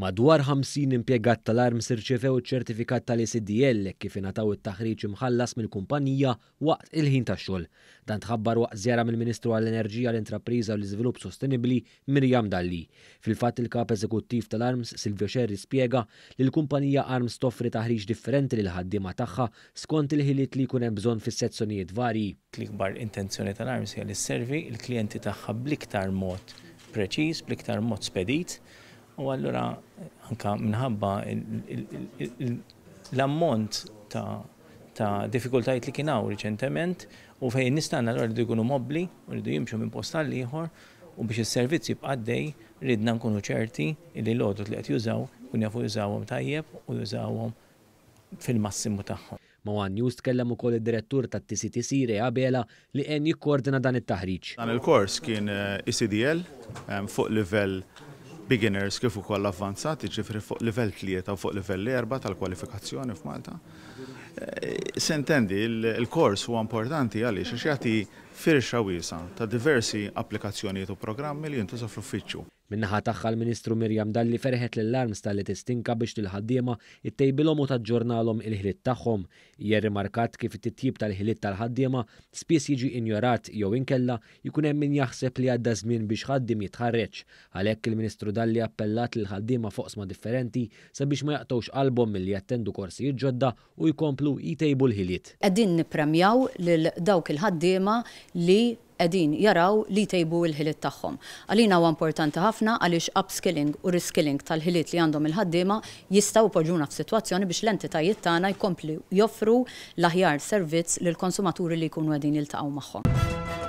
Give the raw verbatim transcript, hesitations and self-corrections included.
Madwar ħamsin impjegat tal-ARMS irċevew iċ-ċertifikat tal-E C D L kif ingħataw it-taħriġ imħallas mill-kumpanija waqt il-ħin tax-xogħol. Dan tħabbar waqt żjara mill-Ministru għall-Enerġija, l-Intrapriża u l-Iżvilupp Sostenibbli Miriam Dalli. Fil-fatt, il-kap eżekuttiv tal-ARMS Silvio Scerri spjega li l-kumpanija ARMS toffri taħriġ differenti lil ħaddiema tagħha skont il-ħiliet li jkun hemm bżonn fis-sezzjonijiet varji. L-ikbar intenzjoni tal-ARMS hija li sservi il-klijenti tagħha bl-iktar mod preċiż, bl-iktar mod spedit. U allura anka minħabba l-ammont ta' ta' diffikultajiet li kien hawn riċentement u fejn nistanna allura rridu jkunu mobbli u rridu jimxu minn post għal ieħor u biex is-servizz jibqa' għaddej, ridna nkunu ċerti li l-għodod li qed jużaw kun jafu jużawhom tajjeb u jużawhom fil-massimu tagħhom. Ma' One News tkellem ukoll id-direttur tat-T C T C Ray Abela li għen jikkoordina dan it-taħriġ. Dan il-kors kien E C D L eh, e fuq livell beginners kif ukoll avvanzati, ġifieri fuq livell tlieta u fuq livell erba' tal-kwalifikazzjoni f'Malta. Eh, s'intendi, il-kors huwa importanti għaliex għax jagħti firxa wiesgħa ta' diversi applikazzjonijiet u programmi li jintużaw fl-uffiċċju. Min-naħa tagħha, l-Ministru Miriam Dalli ferħet lill-ARMS talli tistinka biex lill-ħaddiema ittejbilhom u taġġornalhom il-ħiliet tagħhom. Hija rimarkat kif it-titjib tal-ħiliet tal-ħaddiema spiss jiġi injorat jew inkella jkun hemm min jaħseb li għadda żmien biex ħaddiem jitħarreġ. Għalhekk il-Ministru Dalli appellat lil ħaddiema f'oqsma differenti sabiex ma jaqtgħux qalbhom milli jattendu korsijiet ġodda u jkomplu jtejbu l-ħiliet. Qegħdin nippremjaw lil dawk il-ħaddiema li qegħdin jaraw li jtejbu l-ħiliet tagħhom. Għalina huwa importanti ħafna għaliex upskilling u reskilling tal-ħiliet li għandhom il-ħaddiema jistgħu jpoġġuna f'sitwazzjoni biex l-entitajiet tagħna jkomplu joffru l-aħjar servizz lill-konsumaturi li jkunu qegħdin jiltaqgħu magħhom.